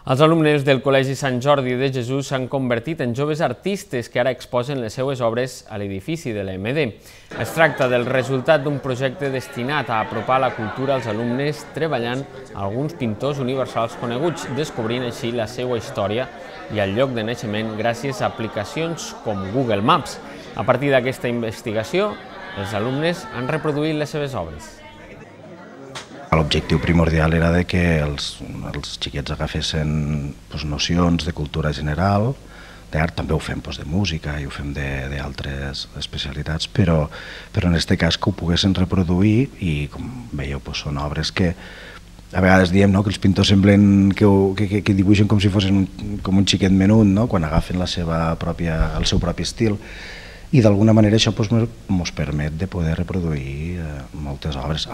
Els alumnes del Col·legi Sant Jordi de Jesús s'han convertit en joves artistes que ara exposen les seues obres a l'edifici de l'EMD. Es tracta del resultat d'un projecte destinat a apropar la cultura als alumnes treballant alguns pintors universals coneguts, descobrint així la seva història i el lloc de naixement gràcies a aplicacions com Google Maps. A partir d'aquesta investigació, els alumnes han reproduït les seves obres. L'objectiu primordial era que els xiquets agafessin nocions de cultura general, d'art, també ho fem de música i ho fem d'altres especialitats, però en aquest cas que ho poguessin reproduir i, com veieu, són obres que a vegades diem que els pintors semblen que dibuixen com si fossin com un xiquet menut, quan agafen el seu propi estil, i d'alguna manera això ens permet de poder reproduir moltes obres.